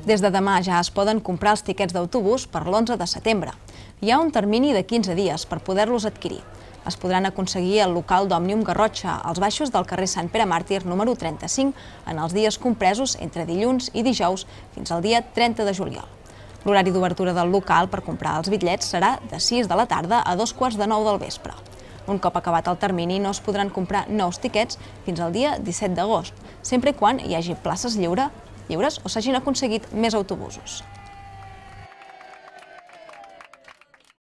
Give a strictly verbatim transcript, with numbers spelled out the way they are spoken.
Des de demà ja es poden comprar els tiquets d'autobús per l'onze de setembre. Hi ha un termini de quinze dies per poder-los adquirir. Es podran aconseguir al local d'Òmnium Garrotxa, als baixos del carrer Sant Pere Màrtir número trenta-cinc, en els dies compresos entre dilluns i dijous fins al dia trenta de juliol. L'horari d'obertura del local per comprar els bitllets serà de sis de la tarda a dos quarts de nou del vespre. Un cop acabat el termini no es podran comprar nous tiquets fins al dia disset d'agost, sempre i quan hi hagi places lliure, lliures o s'hagin aconseguit més autobusos.